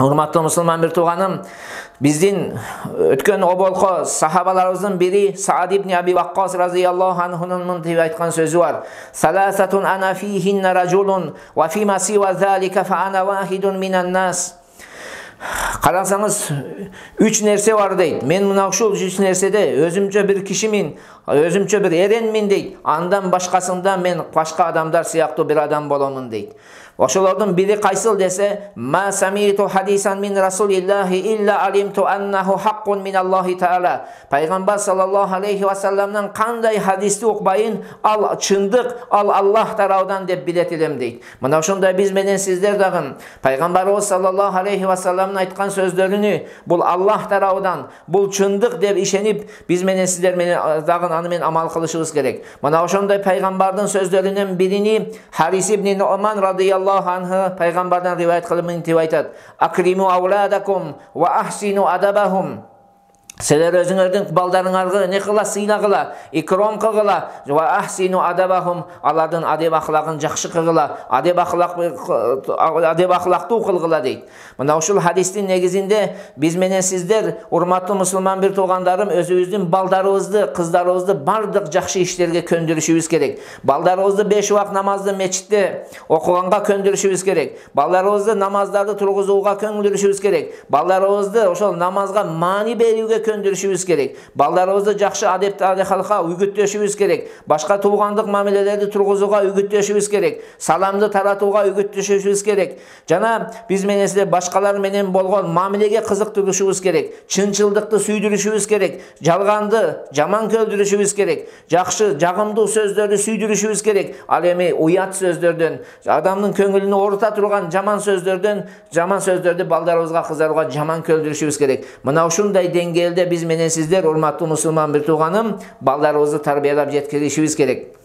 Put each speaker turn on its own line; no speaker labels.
Урматтуу мусулман бир тууганым, биздин өткөн оболко сахабаларыбыздын бири Саад ибн Аби Ваккас разияллаху анхунун мынтип айткан сөзү бар. Саласатун ана фихинна ражулун ва фима сива залика фа ана вахидун минан нас. Карасаңыз, 3 нерсе бар дейт. Мен мына ушул 3 нерседе өзүмчө бир кишимин, өзүмчө бир эренмин дейт. Андан башкасында мен башка адамдар сыяктуу бир адам боломун дейт. Ошолордун бири кайсыл десе, ма самиту хадисан мин расулиллахи илля алимту аннаху хаккун миналлахи таала. Пайгамбар саллаллаху алейхи ва салламдан кандай хадисти укпайын, ал чындык, ал Аллах тарабынан деп билет элем дейт. Мына ошондой биз менен сиздер дагы пайгамбарыбыз саллаллаху алейхи ва салламдын айткан сөздөрүнү бул Аллах тарабынан, бул чындык деп ишенип, биз менен сиздер менен дагы аны менен амал кылышыбыз керек. Мына ошондой пайгамбардын сөздөрүнөн бирини Харис ибн Нуман радияллаху анху пайгамбардан риваят кылып мынтип айтат: Акриму ауладакум ва ахсину адабахум. Силер өзүңөрдүн балдарыңарга не кыла, сыйлагыла, икром кылгыла, ва ахсину адабахум, алардын адеп ахлагын жакшы кылгыла, адеп ахлактуу кылгыла дейт. Мына ушул хадистин негизинде биз менен сиздер, урматтуу мусулман бир туугандарым, өзүбүздүн балдарыбызды, кыздарыбызды бардык жакшы иштерге көндүрүшүбүз керек. Балдарыбызды 5 убак намазды мечитте окуганга көндүрүшүбүз керек. Балдарыбызды намаздарды тургузууга көндүрүшүбүз керек. Балдарыбызды ошол намазга маани берүүгө көндүрүшүбүз керек. Балдарыбызды жакшы адеп алыкка үгүттөшүбүз керек. Башка туугандык мамилелерди тургузууга үгүттөшүбүз керек. Саламды таратууга үгүттөшүбүз керек. Жана биз менен сиздер башкалар менен болгон мамилеге кызыктырышыбыз керек. Чынчылдыкты сүйдүрүшүбүз керек. Жалганды, жаман көлдүрүшүбүз керек. Жакшы, жагымдуу сөздөрдү сүйдүрүшүбүз керек. Ал эми уят сөздөрдөн, адамдын көңүлүнү оорута турган жаман сөздөрдү балдарыбызга, кыздарыбызга жаман көлдүрүшүбүз керек. Мына ушундай деңгээлде биз менен сиздер, урматтуу мусулман бир тууганым, балдарыбызды тарбиялап жеткиришибиз керек.